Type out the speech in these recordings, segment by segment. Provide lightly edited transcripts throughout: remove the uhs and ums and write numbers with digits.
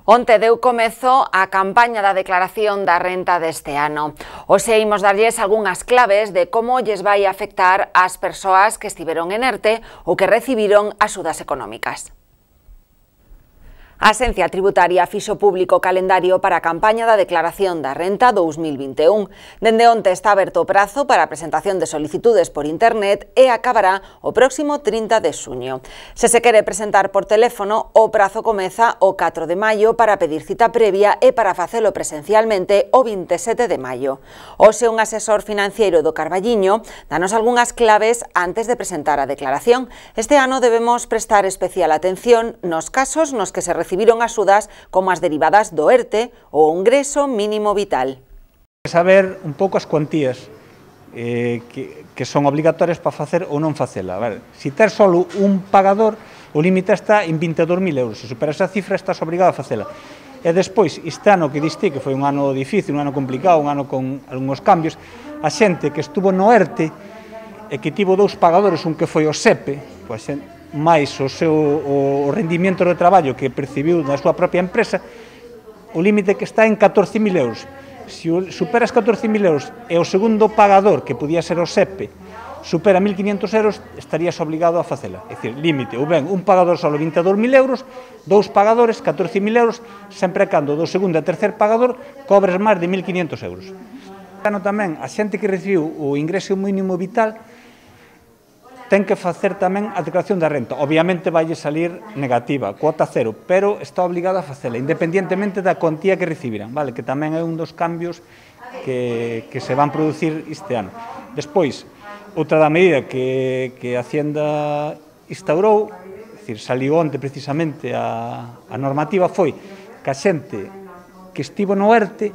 Onte deu comezo a campaña da declaración da renta deste ano. Hoxe imos darlles algunhas claves de como lles vai afectar ás persoas que estiveron en ERTE ou que recibiron axudas económicas. A Axencia Tributaria fixo público o calendario para a campaña da declaración da renta 2021. Dende onte está aberto o prazo para a presentación de solicitudes por internet e acabará o próximo 30 de xuño. Se se quere presentar por teléfono, o prazo comeza o 4 de maio para pedir cita previa e para facelo presencialmente o 27 de maio. Hoxe un asesor financiero do Carballiño danos algunhas claves antes de presentar a declaración. Este ano debemos prestar especial atención nos casos nos que se recibiron axudas como as derivadas do ERTE ou o ingreso mínimo vital. Saber un pouco as cuantías que son obligatorias para facer ou non facela. Se tes só un pagador, o límite está en 22.000 euros. Se supera esa cifra, estás obrigado a facela. E despois, este ano que diste, que foi un ano difícil, un ano complicado, un ano con algúns cambios, a xente que estuvo no ERTE e que tivo dous pagadores, un que foi o SEPE, pois máis o rendimento do traballo que percibiu na súa propia empresa, o límite que está en 14.000 euros. Se superas 14.000 euros e o segundo pagador, que podía ser o SEPE, supera 1.500 euros, estarías obligado a facela. É dicir, límite, ou ben, un pagador solo 22.000 euros, dous pagadores, 14.000 euros, sempre cando do segundo e tercer pagador cobres máis de 1.500 euros. Tamén, a xente que recibiu o ingreso mínimo vital ten que facer tamén a declaración da renta. Obviamente vai salir negativa, cuota cero, pero está obligado a facela, independientemente da cuantía que recibiran, vale? Que tamén é un dos cambios que se van producir este ano. Despois, outra da medida que a Hacienda instaurou, é dicir, saliu onte precisamente a normativa, foi que a xente que estivo no ERTE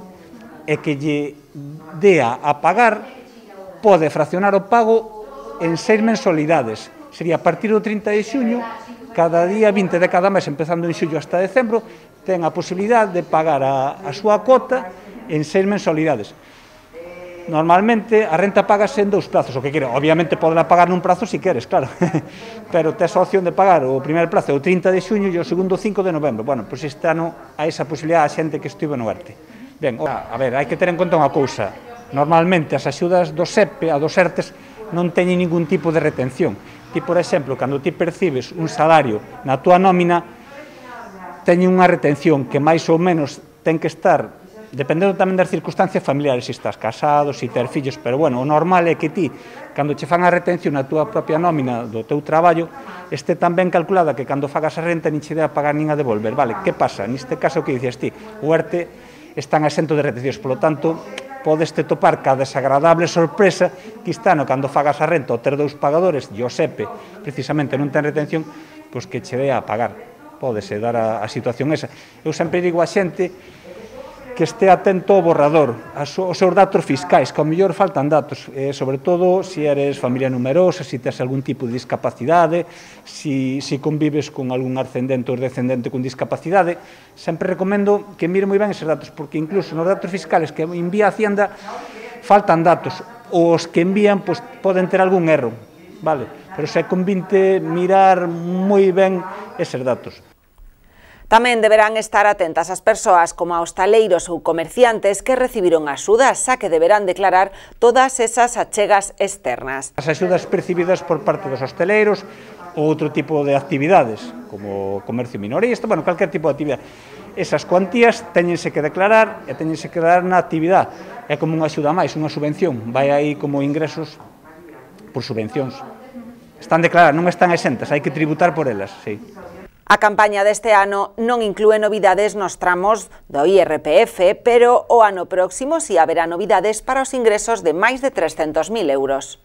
e que lle dea a pagar pode fraccionar o pago en 6 mensualidades. Sería a partir do 30 de xuño, cada día 20 de cada mes, empezando en xullo hasta decembro, ten a posibilidade de pagar a súa cota en 6 mensualidades. Normalmente a renta pagase en 2 plazos, o que quere. Obviamente podela pagar nun prazo se queres, claro, pero tes a opción de pagar o primeiro plazo o 30 de xuño e o segundo 5 de novembro. Bueno, pois este ano hai esa posibilidade a xente que estivo no ERTE. Ben, a ver, hai que ter en conta unha cousa. Normalmente as axudas do SEPE, a dos ERTES, non teñen ningún tipo de retención. Ti, por exemplo, cando ti percibes un salario na túa nómina, teñen unha retención que máis ou menos ten que estar, dependendo tamén das circunstancias familiares, se estás casado, se ter fillos, pero bueno, o normal é que ti, cando che fan a retención na túa propia nómina do teu traballo, este tan ben calculada que cando fagas a renta nin che dea pagar nin a devolver, vale? Que pasa? Neste caso, que dices ti? O ERTE están exento de retencións, polo tanto, podes te topar ca desagradable sorpresa que este ano, cando fagas a renta ou ter dous pagadores e o SEPE precisamente non ten retención, pois que che dea a pagar. Pódese dar a situación esa. Eu sempre digo a xente que este atento ao borrador, aos seus datos fiscais, que ao mellor faltan datos, sobre todo se eres familia numerosa, se tes algún tipo de discapacidade, se convives con algún ascendente ou descendente con discapacidade. Sempre recomendo que mire moi ben eses datos, porque incluso nos datos fiscales que envía a Hacienda faltan datos, os que envían poden ter algún erro, vale? Pero se convinte mirar moi ben eses datos. Tamén deberán estar atentas as persoas como a hostaleiros ou comerciantes que recibiron axudas, xa que deberán declarar todas esas achegas externas. As axudas percibidas por parte dos hostaleiros ou outro tipo de actividades, como comercio minorista, bueno, calquer tipo de actividade. Esas cuantías teñense que declarar e teñense que dar na actividade. É como unha axuda máis, unha subvención. Vai aí como ingresos por subvencións. Están declaradas, non están exentas, hai que tributar por elas, sí. A campaña deste ano non inclúe novidades nos tramos do IRPF, pero o ano próximo si haberá novidades para os ingresos de máis de 300.000 euros.